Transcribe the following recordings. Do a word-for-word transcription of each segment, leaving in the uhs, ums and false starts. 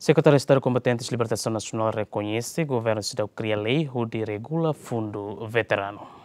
Sekretáriu Estadu Kombatentes Libertasaun Nasionál rekoñese governu seidauk kria lei hodi regula fundu veteranu.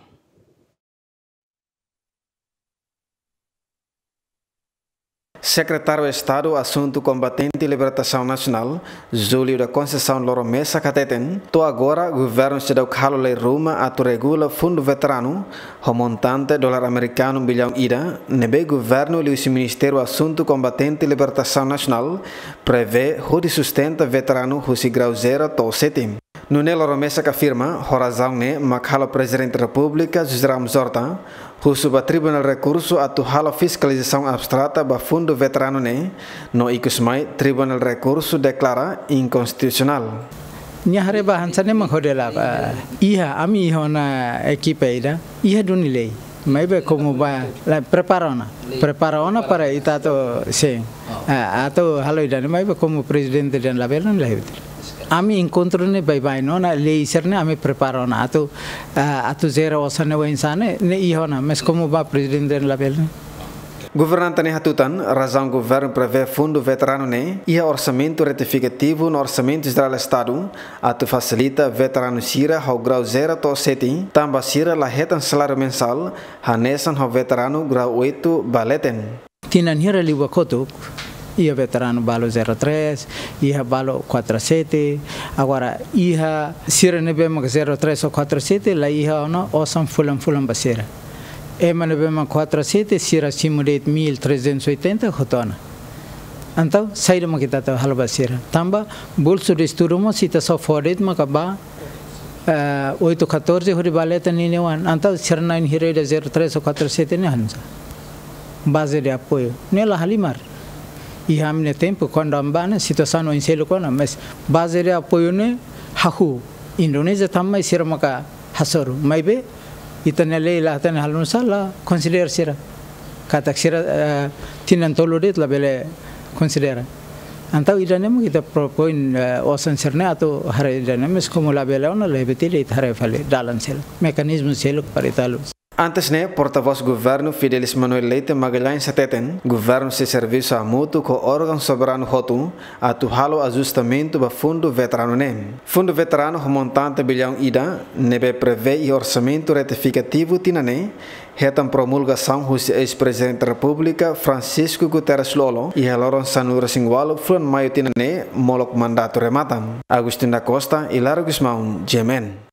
Sekretáriu Estadu Asuntu Kombatente Libertasaun Nasionál, Júlio da Conceição Loro Mesa hateten, to'o agora governu seidauk halo lei ruma atu regula fundu veteranu ho montante dolar amerikanu billaun ida, ne'ebé governu liuhusi Ministériu Asuntu Kombatente Libertasaun Nasionál prevee hodi sustenta veteranu husi grau zero to'o sete. Nune'e Loro Mesa afirma, ho razaun ne'e mak halo Prezidente Repúblika José Ramos Horta husu ba Tribunál Rekursu atu halo fiskalizasaun abstrata ba fundu veteranu ne'e, no ikus mai Tribunál Rekursu deklara inkonstitusionál. Nia haree ba hanesan ne'e mak hodi la, eh, iha, ami iha ona ekipa ida, iha duni lei. Maibé komu ba, la prepara ona. Prepara ona para ita atu, sin. Ah, atu halo ida-ne'e, maibé komu prezidente dehan labele, labele. Ami enkontru ne'e baibain ona, lei sira-ne'e ami prepara ona. Atu, ah, atu jere osan ne'e oinsá ne'e, ne'e iha ona, mas komu ba prezidente dehan labele. Governante ne'e hatutan, razaun governu prevee fundu veteranu ne'e iha orsamentu retifikativu no orsamentu jerál Estadu, atu fasilita veteranu sira ho grau zero to'o sete, tanba sira la hetan saláriu mensál, hanesan ho veteranu grau oito ba leten. Tinan hira liubá kotuk, iha veteranu balu zero três, iha balu quatro sete, agora iha sira ne'ebé mak zero três ou quatro sete, la iha ona osan fulan-fulan ba sira. Ema ne'ebé mak quatro sete, sira simu de'it mil trezentos e oitenta hotu ona. Entaun, saida mak ita atu halo ba sira? Tanba bolsu de estudu mós ita só fó de'it maka ba, eh, oito catorze hodi ba leten ninian oan. Entaun, sira na'in hira ida zero três ou quatro sete ne'e hanesan. Baze de apoiu. Ne'e la halimar. Iha ami-nia tempu, kuandu ami bá ne'e, situasaun oin seluk ona, mas baze de apoiu ne'e hahú. Indonézia tanba mai sira maka hasoru. Maibé, ita-nia lei la hatene halo nusá, la konsidera sira. Katak sira, eh, tinan tolu de'it labele konsidera. Entaun ida-ne'e mak ita propoin, eh, osan sira-ne'e atu haree ida-ne'e, mas komu labele ona, lebih tidak ita haree fali dalan seluk. Mekanizmu seluk para ita halo. Antes ne'e, portavós governu Fidelis Manuel Leite Magalhães hateten, governu sei servisu hamutuk ho órgaun soberanu hotu atu halo ajustamentu ba fundu veteranu ne'e. Fundu veteranu ho montante billaun ida, ne'ebé prevee iha orsamentu retifikativu tinan ne'e, hetan promulgasaun husi eis-Prezidente Repúblika Francisco Guterres Lú-Olo, iha loron sanulu-resin-ualu fulan Maiu tinan ne'e, molok mandatu remata. Agostinho da Costa, Hilário Gusmão, G M N.